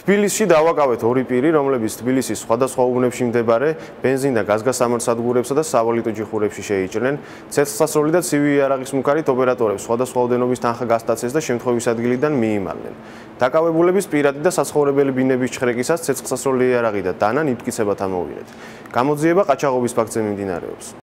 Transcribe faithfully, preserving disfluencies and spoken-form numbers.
თბილისში დავაკავეთ ორი პირი, რომლებიც თბილისის სხვადასხვა უბნებში მდებარე ბენზინ და გაზგასამართსადგურებსა და სავალუტო ჯიხურებში შეიჭრნენ ცეცხლსასროლი და ცივი იარაღის მუქარით ოპერატორებს სხვადასხვა ოდენობის თანხა გასტაცეს და შემთხვევის ადგილიდან მიიმალნენ. დაკავებულების პირადი და საცხოვრებელი ბინების ჩხრეკისას ცეცხლსასროლი იარაღი და დანა ნიფტკიცებად ამოვიღეთ. გამოძიება ყაჩაღობის ფაქტზე მიმდინარეობს.